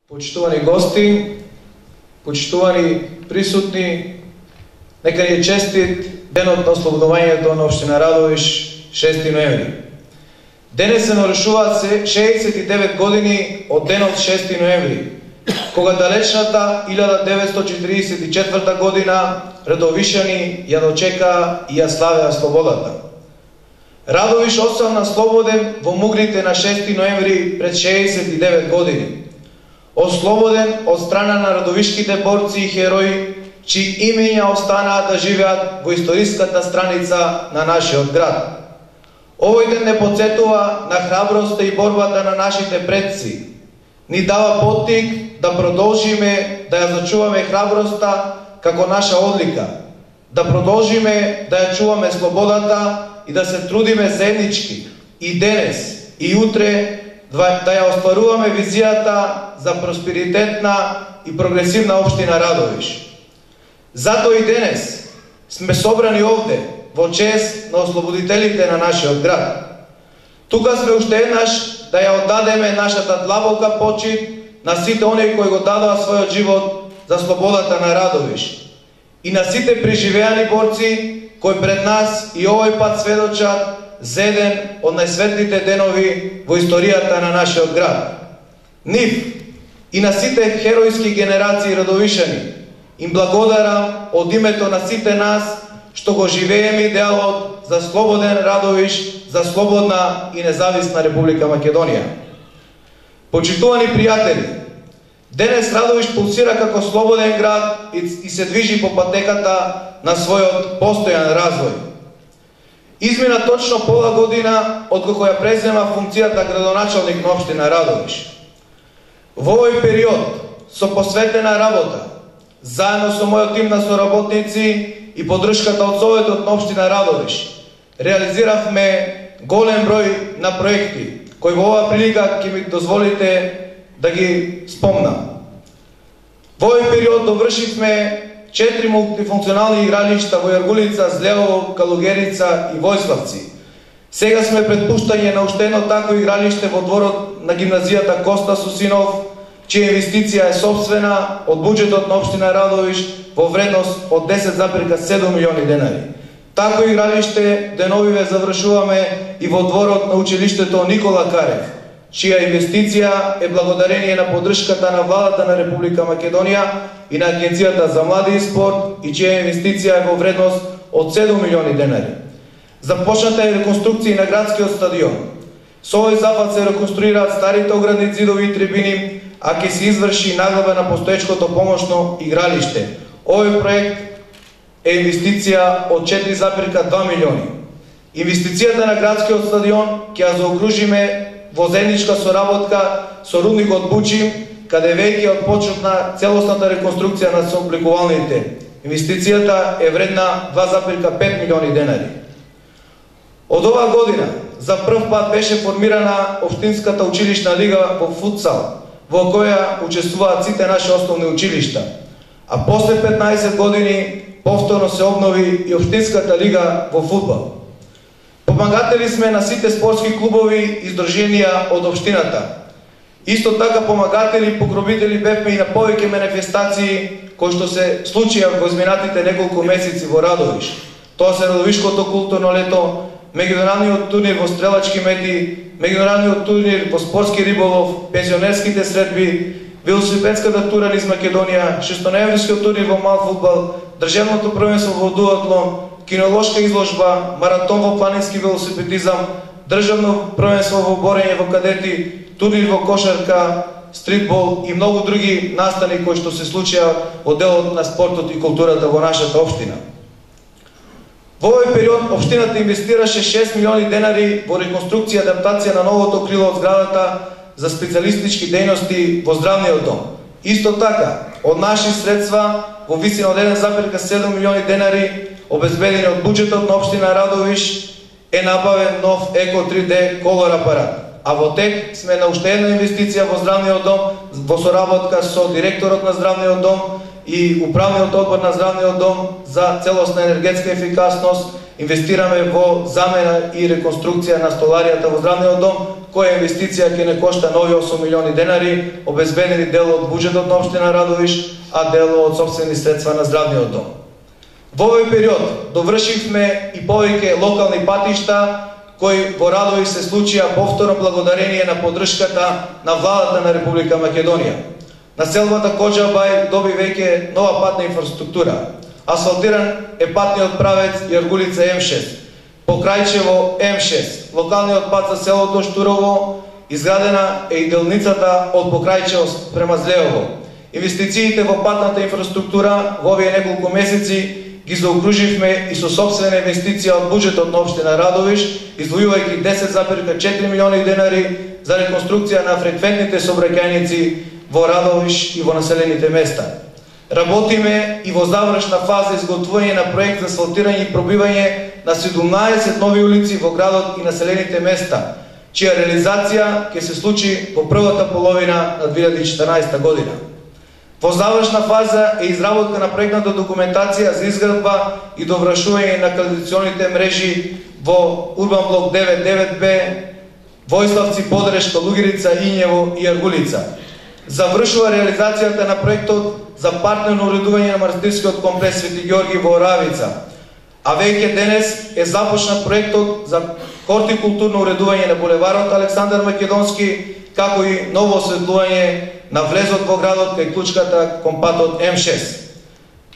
Почитувани гости, почитувани присутни, нека ни е честит денот на ослободувањето на општина Радовиш 6 ноември. Денес се навршуваат 69 години од денот 6 ноември, кога далечната 1944 година радовишани ја дочекаа и ја славеа слободата. Радовиш остана слободен во мугрите на 6 ноември пред 69 години. Ослободен од страна на радовишките борци и херои, чии имења останаа да живеат во историската страница на нашиот град. Овој ден не потсетува на храброста и борбата на нашите предци. Ни дава поттик да продолжиме да ја зачуваме храброста како наша одлика, да продолжиме да ја чуваме слободата и да се трудиме заеднички и денес и утре да ја остваруваме визијата за просперитетна и прогресивна општина Радовиш. Затоа и денес сме собрани овде во чест на ослободителите на нашиот град. Тука сме уште еднаш да ја оддадеме нашата длабока почит на сите оние кои го дадоа својот живот за слободата на Радовиш и на сите преживеани борци кои пред нас и овој пат сведочат за еден од најсветлите денови во историјата на нашиот град. Нив и на сите херојски генерации радовишани им благодарам од името на сите нас што го живееме идеалот за слободен Радовиш, за слободна и независна Република Македонија. Почитувани пријатели, денес Радовиш пулсира како слободен град и се движи по патеката на својот постојан развој. Измина точно пола година од кога ја презема функцијата градоначалник на општина Радовиш. Во овој период со посветена работа, заедно со мојот тим на соработници и поддршката од Советот на општина Радовиш, реализиравме голем број на проекти, кои во оваа прилика ќе ми дозволите да ги спомнам. Во овој период довршивме 4 мултифункционални игралишта во Јаргулица, Злево, Калугерица и Војславци. Сега сме пред пуштање на уште едно такво игралиште во дворот на гимназијата Коста Сусинов, чија инвестиција е сопствена од буџетот на општина Радовиш во вредност од 10,7 милиони денари. Такво игралиште деновиве завршуваме и во дворот на училиштето Никола Карев, чија инвестиција е благодарение на поддршката на владата на Република Македонија и на Агенцијата за млади и спорт, и чија инвестиција е во вредност од 7 милиони денари. Започната е реконструкција на градскиот стадион. Со овој запад се реконструираат старите оградни зидови и трибини, а ќе се изврши наглаба на постоечкото помошно игралиште. Овој проект е инвестиција од 4,2 милиони. Инвестицијата на градскиот стадион ќе ја заокружиме во заедничка соработка со рудникот Бучим, каде веќе отпочна целосната реконструкција на собликувалните. Инвестицијата е вредна 2,5 милиони денари. Од оваа година за прв пат беше формирана Општинската училишна лига во футсал, во која учествуваат сите наши основни училишта. А после 15 години повторно се обнови и Општинската лига во фудбал. Помагатели сме на сите спортски клубови и здруженија од општината. Исто така помагатели и покровители бевме и на повеќе манифестации кои што се случија во изминатите неколку месеци во Радовиш. Тоа се Радовишкото културно лето, меѓународниот турнир во стрелачки мети, меѓународниот турнир во спортски риболов, пензионерските средби, велосипедската тура низ Македонија, шестоноемврискиот турнир во мал фудбал, државното првенство во дуатлон, кинолошка изложба, маратон во планински велосипедизам, државно првенство во борење во кадети, турнир во кошарка, стритбол и многу други настани кои што се случија во делот на спортот и културата во нашата општина. Во овој период општината инвестираше 6 милиони денари во реконструкција и адаптација на новото крило од зградата за специјалистички дејности во здравниот дом. Исто така, од наши средства во висина од 1,7 милиони денари обезбедени од буџетот на општина Радовиш е набавен нов Еко 3D колор апарат. А во тек сме на уште една инвестиција во здравниот дом во соработка со директорот на здравниот дом и управниот одбор на здравниот дом за целосна енергетска ефикасност инвестираме во замена и реконструкција на столаријата во здравниот дом, која инвестиција ќе не кошта нови 8 милиони денари, обезбедени дел од буџетот на општина Радовиш, а дел од сопствени средства на здравниот дом. Во овој период довршивме и повеќе локални патишта, кои во Радовиш се случија повторно благодарение на поддршката на владата на Република Македонија. Населбата Коџабај доби веќе нова патна инфраструктура. Асфалтиран е патниот правец Јаргулица М6, Покрајчево М6, локалниот пат за селото Штурово, изградена е и делницата од Покрајчево према Злеово. Инвестициите во патната инфраструктура во овие неколку месеци ги заокруживме и со собствена инвестиција од буџетот на општина Радовиш, издвојувајќи 10,4 милиони денари за реконструкција на фреквентните сообраќајници во Радовиш и во населените места. Работиме и во завршна фаза изготвување на проект за асфалтирање и пробивање на 17 нови улици во градот и населените места, чија реализација ќе се случи во првата половина на 2014 година. Во завршна фаза е изработка на проектната документација за изградба и довршување на канализационите мрежи во Урбан блок 99Б, Војславци, Подрешка, Лугирица, Ињево и Јаргулица. Завршува реализацијата на проектот за партнерно уредување на манастирскиот комплекс Свети Ѓорги во Оравица, а веќе денес е започнат проектот за хортикултурно уредување на булеварот Александар Македонски, како и ново осветлување на влезот во градот кај клучката кон патот М6.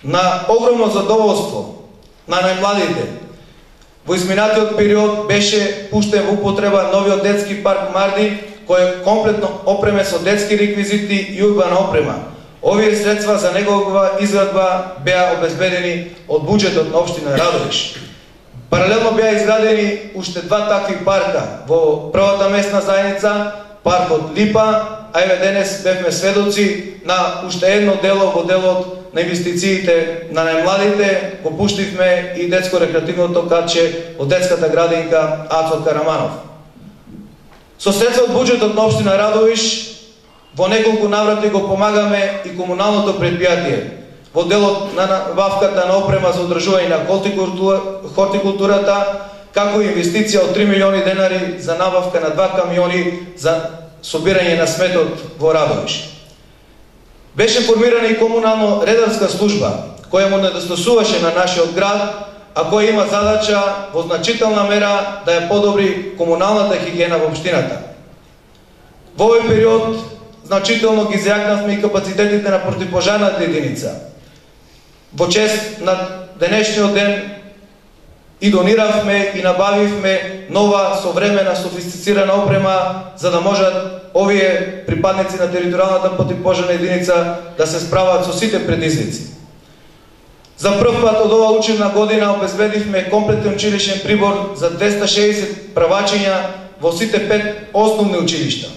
На огромно задоволство на најмладите, во изминатиот период беше пуштен во употреба новиот детски парк Марди, кој е комплетно опремен со детски реквизити и урбана опрема. Овие средства за негова изградба беа обезбедени од буџетот на општина Радовиш. Паралелно беа изградени уште два такви парка во првата местна заедница, паркот Липа, а еве денес бевме сведоци на уште едно дело во делот на инвестициите на најмладите, го пуштивме и детско-рекреативното катче од детската градинка Ацо Караманов. Со средства од буџетот на општина Радовиш во неколку наврати го помагаме и комуналното предпријатие во делот на набавката на опрема за одржување на хортикултурата, како и инвестиција од 3 милиони денари за набавка на 2 камиони за собирање на сметот во Радовиш. Беше формирана и комунално редарска служба, која му недостасуваше на нашиот град, а која има задача во значителна мера да ја подобри комуналната хигиена во општината. Во овој период значително ги зајакнавме и капацитетите на противпожарната единица. Во чест на денешниот ден и дониравме и набавивме нова современа софистицирана опрема за да можат овие припадници на територијалната противпожарна единица да се справат со сите предизвици. За прв пат од ова учебна година обезбедивме комплетен училишен прибор за 260 правачиња во сите 5 основни училишта.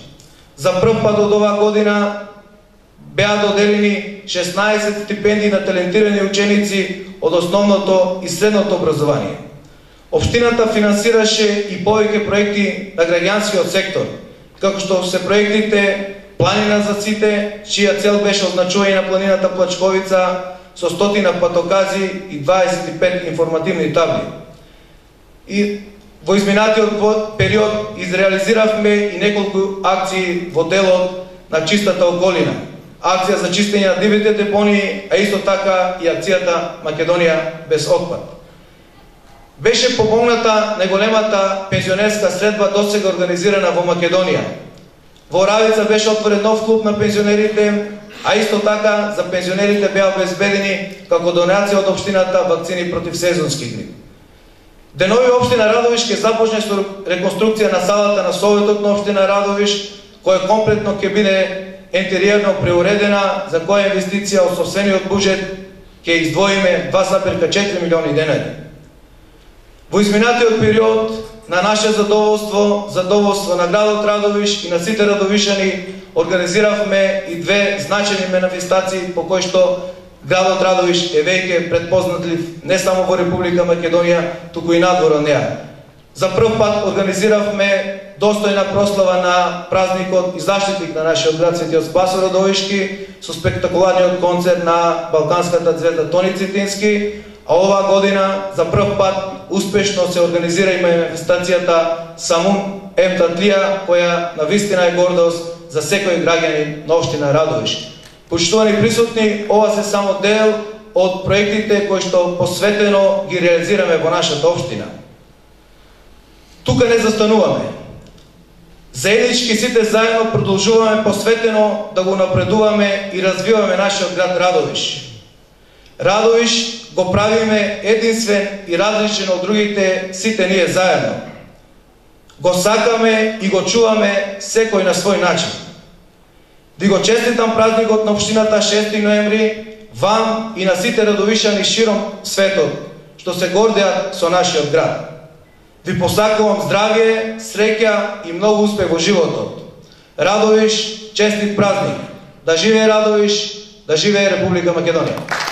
За прв пат од оваа година беа доделени 16 стипендии на талентирани ученици од основното и средното образование. Општината финансираше и повеќе проекти на граѓанскиот сектор, како што се проектите Планина за сите, чија цел беше означување на планината Плачковица со 100 патокази и 25 информативни табли. И во изминатиот период изреализиравме и неколку акции во делот на чистата околина. Акција за чистење на дивите депонии, а исто така и акцијата Македонија без отпад. Беше помогната најголемата пензионерска средба досега организирана во Македонија. Во Оравица беше отворен нов клуб на пензионерите, а исто така за пензионерите беа обезбедени како донација од општината вакцини против сезонски грип. Денови општина Радовиш ќе започне со реконструкција на салата на Советот на општина Радовиш, која комплетно ќе биде интериерно преуредена, за која инвестиција од собствениот буџет ќе издвоиме 2,4 милиони денари. Во изминатиот период на наше задоволство на градот Радовиш и на сите радовишани организиравме и две значајни манифестации по кои што градот Радовиш е веќе предпознатлив не само во Република Македонија, туку и надвор од неа. За прв пат организиравме достојна прослава на празникот и заштитник на нашиот град Светиот Спасо Радовишки со спектакуларниот концерт на балканската звезда Тони Цитински, а оваа година за прв пат успешно се организира и манифестацијата Самун Емтатлија, која навистина е гордост за секој граѓанин на општина Радовиш. Почитувани присутни, ова се само дел од проектите кои што посветено ги реализираме во нашата општина. Тука не застануваме. Заеднички сите заедно продолжуваме посветено да го напредуваме и развиваме нашиот град Радовиш. Радовиш го правиме единствен и различен од другите сите ние заедно. Го сакаме и го чуваме секој на свој начин. Ви го честитам празникот на општината 6 ноември, вам и на сите радовишани широм светот, што се гордеат со нашиот град. Ви посакувам здравје, среќа и многу успех во животот. Радовиш, честит празник! Да живее Радовиш, да живее Република Македонија!